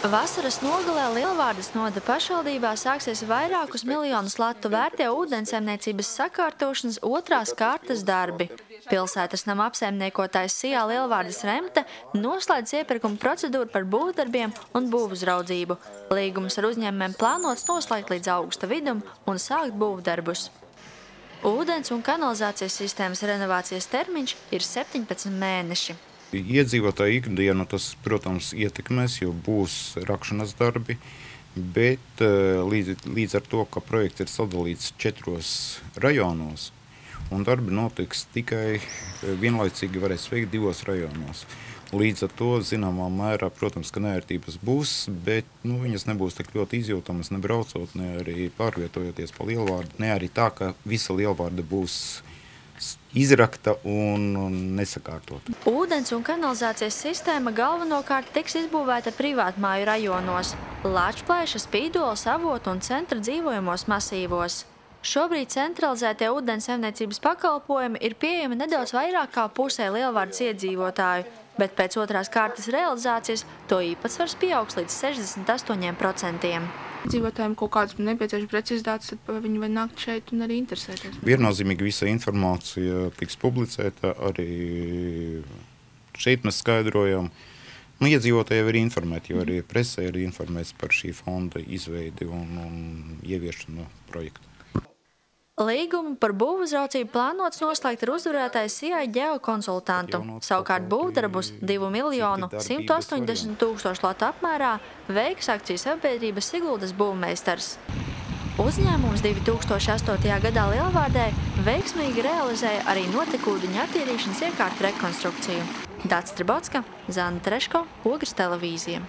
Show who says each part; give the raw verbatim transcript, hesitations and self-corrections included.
Speaker 1: Vasaras nogalē Lielvārdes novada pašvaldībā sāksies vairākus miljonus latu vērtie ūdensaimniecības sakārtošanas otrās kārtas darbi. Pilsētas nama apsaimniekotājs Sijā Lielvārdes Remte noslēdz iepirkuma procedūru par būvdarbiem un būvuzraudzību. Līgums ar uzņēmumiem plānots noslēgt līdz augusta vidum un sākt būvdarbus. Ūdens un kanalizācijas sistēmas renovācijas termiņš ir septiņpadsmit mēneši.
Speaker 2: Iedzīvotāju ikdienu tas, protams, ietekmēs, jo būs rakšanas darbi, bet līdz, līdz ar to, ka projekts ir sadalīts četros rajonos, un darbi notiks tikai vienlaicīgi varēs veikt divos rajonos. Līdz ar to, zināmā mērā, protams, ka neērtības būs, bet nu, viņas nebūs tik ļoti izjūtamas, ne braucot, ne arī pārvietojoties pa Lielvārdu, ne arī tā, ka visa Lielvārda būs izrakta un nesakārtota.
Speaker 1: Ūdens un kanalizācijas sistēma galvenokārt tiks izbūvēta privātmāju rajonos – Lāčplēša, Spīdoles, Avotu un centra dzīvojamos masīvos. Šobrīd centralizētie ūdensaimniecības pakalpojumi ir pieejami nedaudz vairāk kā pusē Lielvārdas iedzīvotāju, bet pēc otrās kārtas realizācijas to īpatsvars pieaugs līdz sešdesmit astoņiem procentiem.
Speaker 3: Dzīvotājiem kaut kādas nepieciešamas precizitātes, tad viņi var nākt šeit un arī interesēties.
Speaker 2: Viennozīmīgi visa informācija tiks publicēta, arī šeit mēs skaidrojam. Nu, iedzīvotāji jau ir informēti, jo arī presē ir informēts par šī fonda izveidi un, un ieviešanu projektu.
Speaker 1: Līgumu par būvuzraudzību plānots noslēgt ar uzvarētāju Sijā ģeokonsultantu. Savukārt būvdarbus divu miljonu simtu astoņdesmit tūkstošu latu apmērā veiks akciju sabiedrība Siguldas būvmeistars. Uzņēmums divi tūkstoši astotajā gadā Lielvārdē veiksmīgi realizēja arī notekūdeņa attīrīšanas iekārtu rekonstrukciju. Dācis Tribotska, Zana Treško, Ogres televīzija.